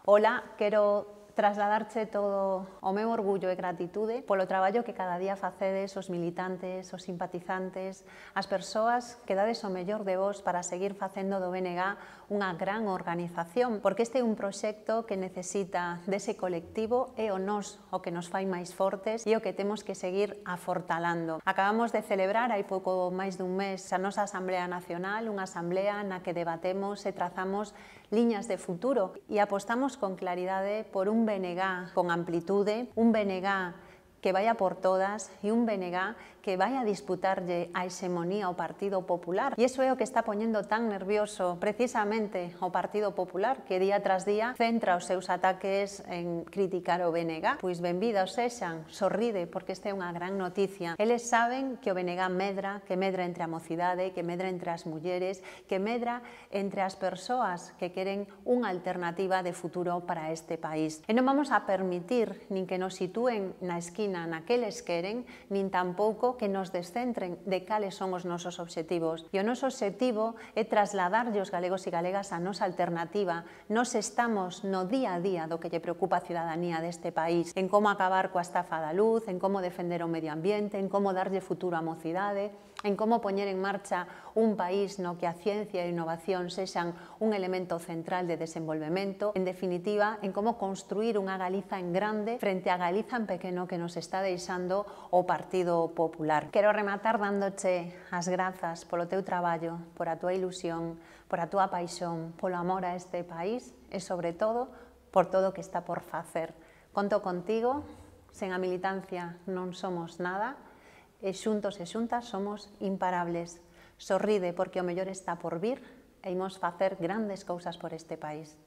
Ola, quero trasladarche todo o meu orgullo e gratitude polo traballo que cada día facedes os militantes, os simpatizantes, as persoas que dades o mellor de vos para seguir facendo do BNG unha gran organización, porque este é un proxecto que necesita dese colectivo e o nos o que nos fai máis fortes e o que temos que seguir afortalando. Acabamos de celebrar hai pouco máis dun mes a nosa Asamblea Nacional, unha asamblea na que debatemos e trazamos liñas de futuro e apostamos con claridade por un BNG con amplitude, un BNG que vaya por todas e un BNG que vai a disputarlle a hexemonía ao Partido Popular. E iso é o que está poñendo tan nervioso precisamente o Partido Popular, que día tras día centra os seus ataques en criticar o BNG. Pois benvidos sexan, sorride, porque esta é unha gran noticia. Eles saben que o BNG medra, que medra entre a mocidade, que medra entre as mulleres, que medra entre as persoas que queren unha alternativa de futuro para este país. E non vamos a permitir nin que nos sitúen na esquina na que eles queren, nin tampouco que nos descentren de cales son os nosos obxectivos. E o noso obxectivo é trasladarlle aos galegos e galegas a nosa alternativa. Nos estamos no día a día do que lle preocupa a cidadanía deste país, en como acabar coa estafa da luz, en como defender o medio ambiente, en como darlle futuro á mocidade, en como poñer en marcha un país no que a ciencia e a innovación sexan un elemento central de desenvolvemento, en definitiva, en como construir unha Galiza en grande frente á Galiza en pequeno que nos está deixando o Partido Popular. Quero rematar dándoche as grazas polo teu traballo, por a túa ilusión, por a túa paixón, polo amor a este país e, sobre todo, por todo o que está por facer. Conto contigo, sen a militancia non somos nada, e xuntos e xuntas somos imparables. Sorride porque o mellor está por vir e imos facer grandes cousas por este país.